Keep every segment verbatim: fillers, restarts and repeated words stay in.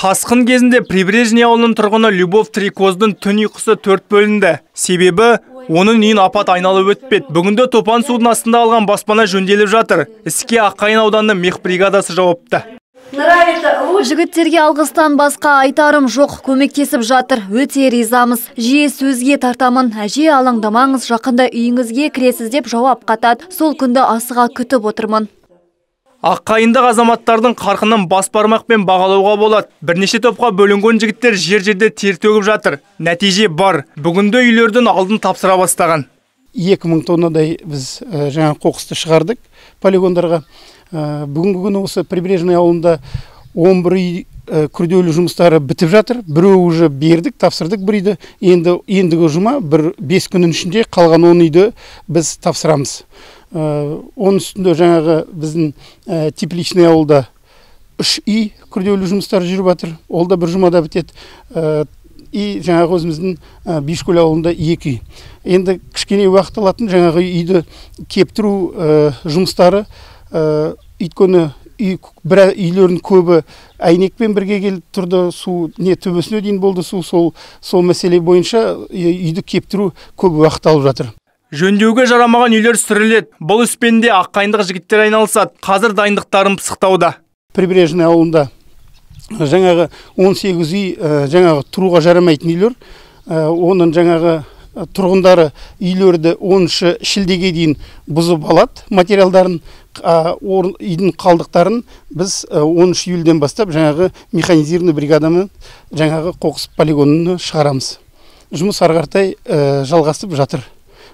Тасқын кезінде Прибрежный ауылының тұрғыны Любовь Трикоздың түн ұйқысы төрт бөлінді. Себебі оның үйін апат айналып өтпеді. Бүгінде топан судың астында алған баспана жөнделіп жатыр. Іске Аққайын ауданының мех бригадасы жауапты. Жігіттерге алғыстан басқа айтарым жоқ, көмектесіп жатыр. Өте ризамыз. Жиі сөзге тартамын. Әже, алаңдамаңыз, жақында үйіңізге кіресіз деп жауап қатады. Сол күнді асыға күтіп отырмын. Аққайындық азаматтардың қарқынын бас бармақпен бағалауға болады. Бірнеше топқа бөлінген жігіттер жер-жерде тер төгіп жатыр. Нәтиже бар. Бүгінде үйлердің алдын тапсыра бастаған. екі мың тоннадай біз жаңа қоқысты шығардық полигондарға. Бүгінгі күні осы Прибрежный ауылында он бір үй күрделі жұмыстары бітіп жатыр. Біреуі уже бердік, тапсырдық бір үйді. Енді ендігі жұма бір бес күннің ішінде қалған он үйді біз тапсырамыз. Оның үстінде жаңағы біздің Тепличный ауылда үш үй күрделі жұмыстар жүріп жатыр. Ол да бір жұмада бітеді. И жаңағы өзіміздің Бишкөл ауылында екі үй. Енді кішкене уақыт алатын жаңағы үйді кептіру жұмыстары, өйткені бір үйлердің көбі әйнекпен бірге келіп тұрды, су не төбесіне дейін болды су, сол сол мәселе бойынша үйді кептіру көп уақыт алып жатыр. Жөндеуге жарамаған үйлер сүріледі. Бұл іспенде аққайындық жігіттер айналысады. Қазір дайындықтарын пысықтауда. Прибрежный ауылында жаңағы он сегіз үй жаңағы тұруға жарамайтын үйлер. Оның жаңағы тұрғындары үйлерді оныншы шілдеге дейін бұзып алады материалдарын, үйдің қалдықтарын біз оныншы июльден бастап жаңағы механизированный бригадамен жаңағы қоқыс полигонын шығарамыз. Жұмыс ары қаратай жалғасып жатыр.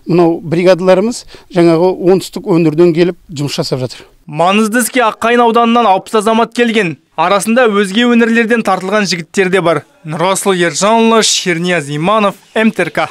Мынау бригадаларымыз жаңағы оңтүстік өңірден келіп жұмыс жасап жатыр. Маңызды іске Аққайын ауданынан алпыс азамат келген. Арасында өзге өңірлерден тартылған жігіттер де бар. Нұрасыл Ержанұлы, Шернияз Иманов, эм тэ эр ка.